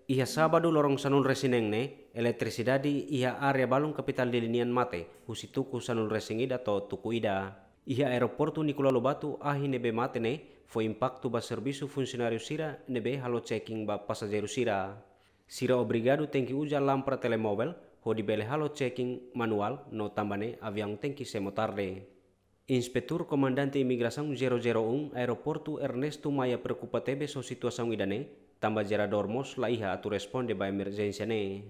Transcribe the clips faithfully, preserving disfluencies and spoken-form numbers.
Iha sábadu loron sanulu-resin-neen ne'e, eletrisidade iha área balun kapitál Dili nian mate, husi tuku sanulu-resin-ida to'o tuku ida. Iha aeroportu Nicolau Lobato, ahi ne'ebé mate ne'e, fó impaktu ba servisu funsionáriu sira ne'ebé halo check-in ba pasajeiru sira. Sira obrigadu tenke uza lámpada telemovel, hodi bele halo check-in manuál, no tanba ne'e aviaun tenke semo tarde. Inspetór Komandante Imigrasaun zero zero um Aeroportu Ernesto Maia preokupa tebes ho situasaun ida-ne'e, tanba jeradór mós la iha atu responde ba emerjénsia ne'e.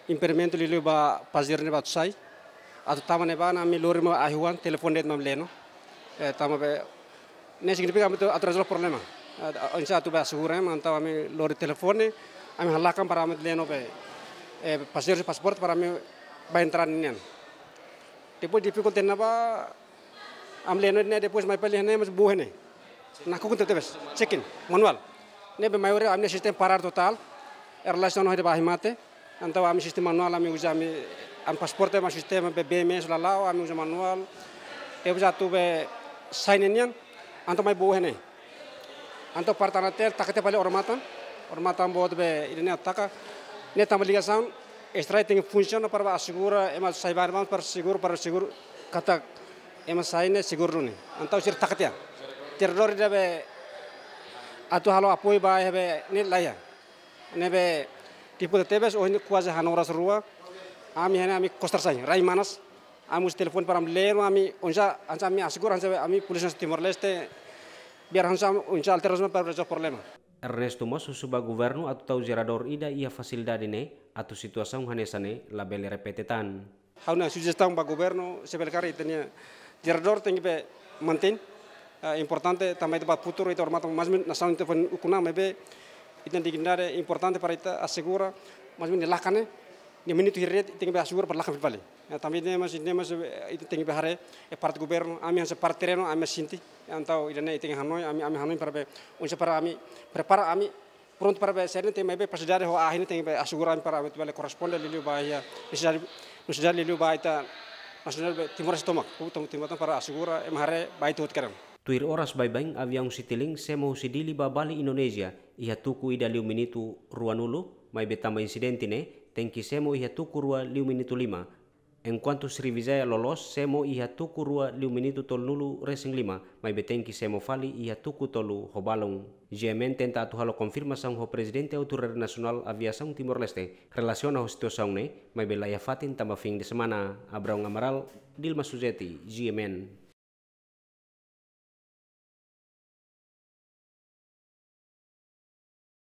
Impedimentu liuliu ba pasajeiru ne'ebé atu sai, atu tama ne'ebá, ami lori mak ahi-oan, telefone de'it mak leno. Eh, tanba be, ne'e signifika ami atu, atu rezolve problema. Eh, oinsá atu be asegura, entaun ami lori telefone, ami halakan para ami leno be, eh, pasajeiru pasaporte para ami ba entrada nian. Depois difikulta ne'ebá, ami leno ne'e, depois mai fali ne'e, mas buat ne'e. Nakukun tebes, check-in, manuál. Ne'ebé maioria ami-nia sistema parar totál, em relação ao debate mate. Entaun ami sistema manuál, ami uza ami, ami pasaporte, ami sistema be B M S la la'o, ami uza manuál. Depois atu be sai ne'e nian, entaun mai buat ne'e. Entaun parte Anatel taka tiha fali odamatan, odamatan boot be ida-ne'e taka. Ne'e tanba ligasaun, estrada tenke funsiona para ba asegura, ema sai ba para seguru, para seguru, katak ema sai ne'e seguru duni. Entaun sira taka tiha. Jeradór ida be atu halo apoiu ba iha be ne'e la iha. Ne'ebé difikulta tebes, ohin kuaze hanoras rua, ami iha ne'e ami kostar sai, rai manas, ami uza telefone para ami leno, ami oinsá, oinsá ami asegura, oinsá ami polísia Timor-Leste, biar oinsá, oinsá alternativa para rezolve problema. Ernesto mós husu ba governu atu tau jeradór ida iha fasilidade ne'e, atu situasaun hanesan ne'e labele repete tan. Ha'u-nia sujestaun ba governu, se bele karik ita-nia jeradór tenke be mantein, eh, importante tanba ita ba futuru ita odamatan, mais ou menus nasaun ita fó ukun-an, maibé ita-nia dignidade importante para ita asegura, mais ou menus lakan ne'e, nia minutu hirak de'it tenke be asegura para lakan fali. Eh, tanba ne'e mós, ne'e mós, eh, ita tenke be haree, eh, parte governu, ami hanesan parte terrenu, ami sente, entaun ida-ne'e ita tenke hanoin, ami, ami hanoin para be, oinsá para ami, prepara ami, prontu para be, se ne'e tenke be fasilidade ho ahi ne'e tenke be asegura para be atu bele korresponde liuliu ba iha nesesidade, nesesidade liuliu ba ita nasionál be Timor-Leste tomak, hu tomak Timor para asegura ema haree ba ita hotu kedan. Tuir oras baibain aviaun Citilink semo husi Dili ba Bali Indonézia, iha tuku ida liu minutu ruanulu, maibé tanba insidente ne'e, tenke semo iha tuku rua liu minutu lima. Enkuantu Sriwijaya loloos semo iha tuku rua liu minutu tolunulu-resin-lima, maibé tenke semo fali iha tuku tolu ho balun. G M N tenta atu halo konfirmasaun ho Prezidente Autoridade Nasionál Aviasaun Timor-Leste relasiona ho situasaun ne'e, maibé la iha fatin tanba fin de semana. Abraão Amaral, Dilma Suzeti, G M N.